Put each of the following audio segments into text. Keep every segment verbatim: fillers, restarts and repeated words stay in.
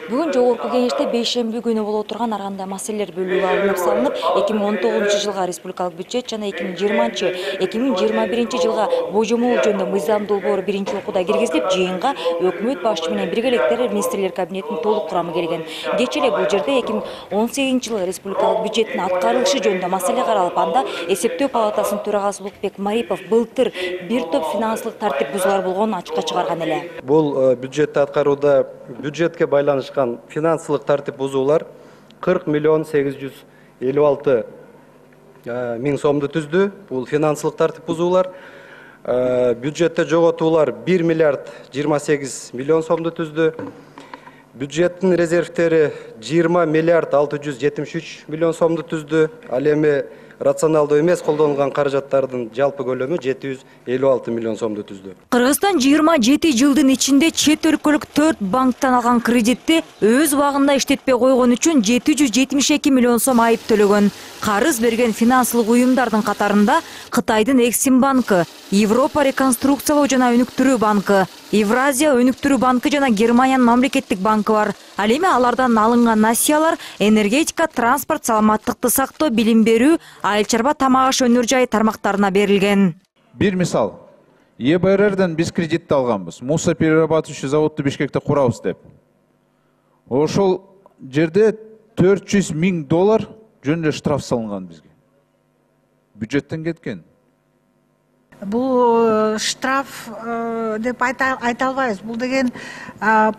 Бүгүн жогорку кеңеште бейшемби күнү боло турган ар кандай маселелер бөлүгү алынып салынып, эки миң он тогузунчу жылга республикалык бюджет жана эки миң жыйырманчы эки миң жыйырма биринчи жылга божомол жөнүндө мыйзам долбоору биринчи окууда киргизилип, жыйынга өкмөт башчы менен бирге электер министрлер кабинетинин толук курамы келген. Кечээ эле бул жерде эки миң он сегизинчи жылы республикалык бюджеттин аткарылышы жөнүндө маселе каралып, анда эсептөө палатасынын төрагасы Улукбек Марипов былтыр бир топ финансылык тартип бузуулар болгонун ачыкка чыгарган эле. Бул бюджетти аткарууда бюджетке байланышкан финансылык тартип бузуулар кырк миллион сегиз жүз элүү алты миң сомду түздү. Бул финансылык тартип бузуулар. Бюджетте жоготуулар бир миллиард жыйырма сегиз миллион сомду түздү. Бюджеттин резервтери жыйырма миллиард алты жүз жетимиш үч миллион сомду түздү. Ал эми рационалдуу эмес колдонулган каражаттардын жалпы көлөмү жети жүз элүү алты миллион сомду түздү. Кыргызстан жыйырма жети жылдын ичинде чет өлкөлүк төрт банктан алган кредитти өз убагында иштетпей койгон үчүн жети жүз жетимиш эки миллион сом айып төлөгөн. Карыз берген финансылык уюмдардын катарында Кытайдын Эксим банкы, Европа реконструкциялоо жана өнүктүрүү банкы, Евразия өнүктүрүү банкы жана Германиянын мамлекеттик банкы бар. Ал эми алардан алынган насыялар энергетика, транспорт, саламаттыкты сактоо, билим берүү, айыл чарба, тамак аш өнөр жай тармактарына берилген. Бир мисал, Е Б Р Рден биз кредитти алганбыз. Муса перерабатывающий заводду Бишкекте курабыз деп. Ошол жерде төрт жүз миң доллар жөн эле штраф салынган бизге. Бюджеттен кеткен. Бул штраф деп айта албайбыз. Бул деген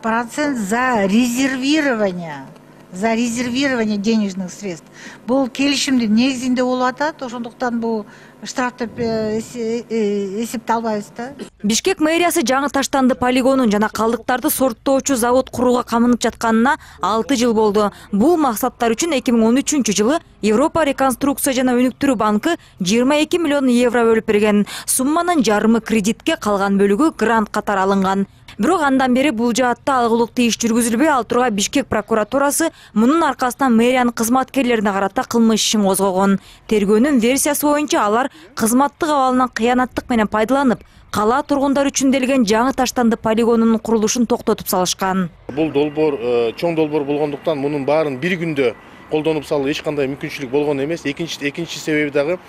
процент за резервирование, за резервирование денежных средств. Бул келишимдин негизинде болуп атат, ошондуктан бул штраф деп эсепте албайбыз да. Бишкек мэриясы жаңы таштанды полигонун жана калдыктарды сорттоочу завод курууга камынып жатканына алты жыл болду. Бул максаттар үчүн эки миң он үчүнчү жылы Европа реконструкция жана өнүктүрүү банкы жыйырма эки миллион евро бөлүп берген. Сумманын жарымы кредитке, калган бөлүгү грант катары алынган. Бирок андан бери бул жаатта алгылыктуу иш жүргүзүлбөй, ал турга Бишкек прокуратурасы мунун аркасынан мэриянын кызматкерлерине карата кылмыш ишин козгогон. Тергөөнүн версиясы боюнча алар кызматтык абалынан кыянаттык менен пайдаланып, кала тургундар үчүн делген жаңы таштанды полигонунун курулушун токтотуп салышкан. Бул долбоор чоң долбоор болгондуктан мунун баарын бир күндө колдонуп салуу эч кандай мүмкүнчүлүк болгон эмес. Экинчи экинчи себеби дагы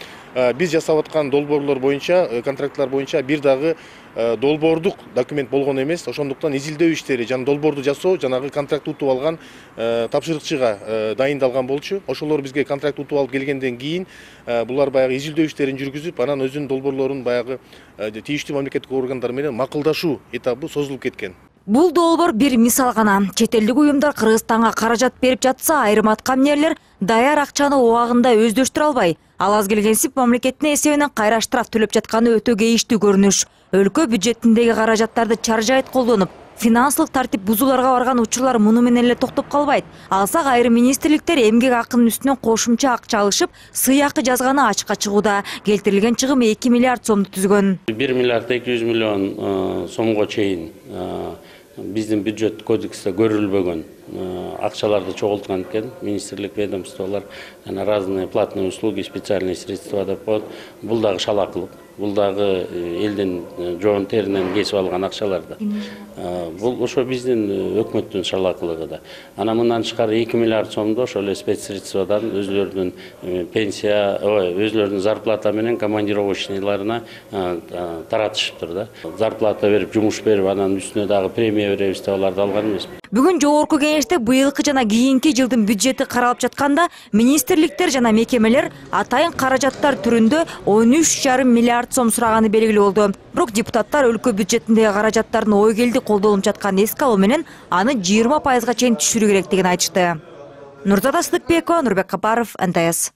биз жасап аткан долбоорлор боюнча, контрактлар боюнча бир дагы долбоордук документ болгон эмес. Ошондуктан изилдөө иштери жана долбоорду жасоо жанагы контракт утуп алган тапшырыкчыга дайындалган болчу. Ошолор бизге контракт утуп алып келгенден кийин булар баягы изилдөө иштерин жүргүзүп, анан өзүнүн долбоорлорун баягы тийиштүү мамлекеттик органдар менен макулдашуу этабы созулуп кеткен. Бул долбоор бир мисал гана. Чет элдик уюмдар Кыргызстанга каражат берип жатса, айрым аткаминерлер даяр акчаны убагында өздөштүрө албай, ал аз келгенсип мамлекеттин эсебинен кайра штраф төлөп жатканы өтө кейиштүү көрүнүш. Өлкө бюджетиндеги каражаттарды чаржайт колдонуп, финансылык тартип бузууларга барган учурлар муну менен эле токтоп калбайт. Алсак айрым министрликтер эмгек акынын үстүнөн кошумча акча алышып, сыйакы жазганы ачыкка чыгууда. Келтирилген чыгым эки миллиард сомду түзгөн. бир миллиард эки жүз миллион сомго чейин биздин бюджет кодексте көрүлбөгөн акчаларды чогулткан экен. Министрлик, ведомстволор, жана разные платные услуги, специальные средства деп коет. Бул дагы шалакылык. Бул дагы элдин жоон теринен кесип алган акчалар да. Бул ошо биздин өкмөттүн шалакылыгы да. Ана мындан тышкары эки миллиард сомду ошол эле спецсредстводан өзлөрүнүн пенсия, өзлөрүнүн зарплата менен командировочныйларына таратышыптыр да. Зарплата берип, жумуш берип, анан үстүнө дагы премия беребиз деп аларды алган эмес. Бүгүн жогорку кеңеште быйылкы жана кийинки жылдын бюджети каралып жатканда, министрликтер жана мекемелер атайын каражаттар түрүндө он үч жарым миллиард сом сураганы белгилүү болду. Бирок депутаттар өлкө бюджетиндеги каражаттардын ойгелди колдонулуп жатканын эске алуу менен аны жыйырма пайызга чейин түшүрүү керектигин айтышты. Нурзада Сыдыкбекова, Нурбек Капаров, Н Т С.